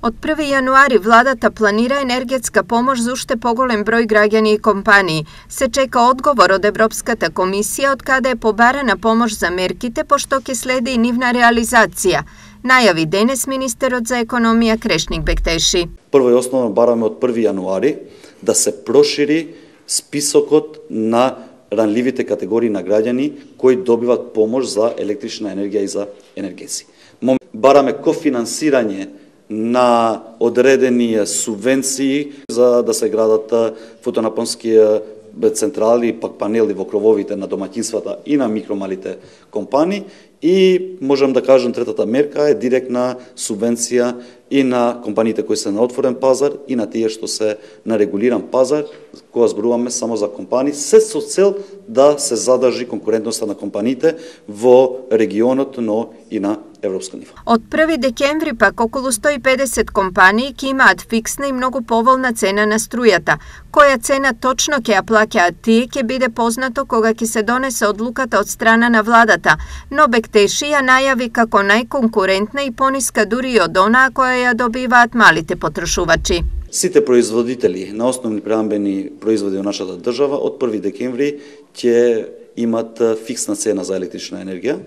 Од 1. јануари владата планира енергетска помош за уште поголем број граѓани и компании. Се чека одговор од Европската комисија од каде е побарана помош за мерките, пошто ќе следи и нивна реализација. Најави денес министерот за економија Крешник Бектеши. Прво и основно бараме од 1. јануари да се прошири списокот на ранливите категории на граѓани кои добиваат помош за електрична енергија и за енергетици. Бараме кофинансирање на одредени субвенции за да се градат фотонапонски централи, пак панели во крововите на домаќинствата и на микромалите компании. И можам да кажам, третата мерка е директна субвенција и на компаниите кои се на отворен пазар и на тие што се на регулиран пазар, кога зборуваме само за компании, се со цел да се задржи конкурентноста на компаниите во регионот, но и на европско ниво. Од 1. декември пак околу 150 компании ќе имаат фиксна и многу поволна цена на струјата. Која цена точно ќе ја плаќаат тие ќе биде познато кога ќе се донесе одлуката од страна на владата, но Бектеши ја најави како најконкурентна и пониска дури и од онаа која ја добиваат малите потрошувачи. Сите производители на основни преамбени производи во нашата држава од 1. декември ќе имат фиксна цена за електрична енергија,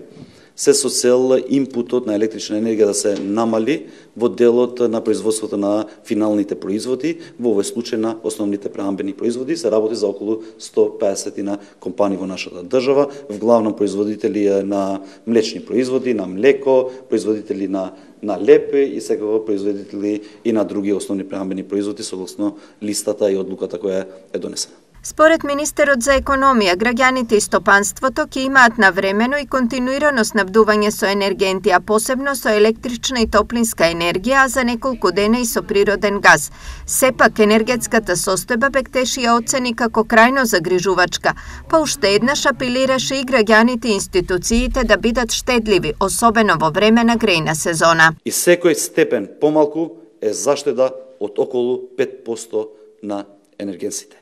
се со цел импутот на електрична енергија да се намали во делот на производството на финалните производи. Во овој случај на основните преамбени производи се работи за околу 150 на компании во нашата држава, вглавно производители на млечни производи, на млеко, производители на лепе и секако производители и на други основни преамбени производи согласно листата и одлуката која е донесена. Според министерот за економија, граѓаните и стопанството ќе имаат навремено и континуирано снабдување со енергенти, а посебно со електрична и топлинска енергија, а за неколку дена и со природен газ. Сепак, енергетската состојба Бектеши ја оцени како крајно загрижувачка, па уште еднаш апелираше и граѓаните и институциите да бидат штедливи, особено во време на грејна сезона. И секој степен помалку е заштеда од околу 5% на енергенците.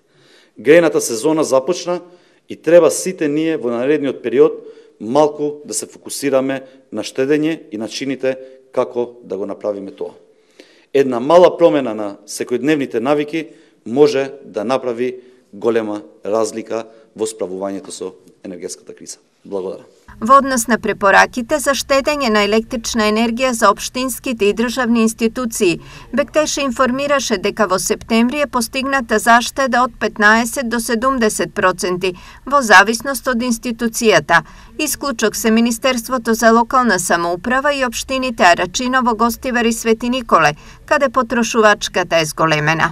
Грејната сезона започна и треба сите ние во наредниот период малку да се фокусираме на штедење и начините како да го направиме тоа. Една мала промена на секојдневните навики може да направи голема разлика во справувањето со енергетската криза. Благодарам. Во однос на препораките за штедење на електрична енергија за општинските и државни институции, Бектеши информираше дека во септември е постигната заштеда од 15 до 70% во зависност од институцијата. Исклучок се Министерството за локална самоуправа и општините Арачиново, Гостивар и Свети Николе, каде потрошувачката е зголемена.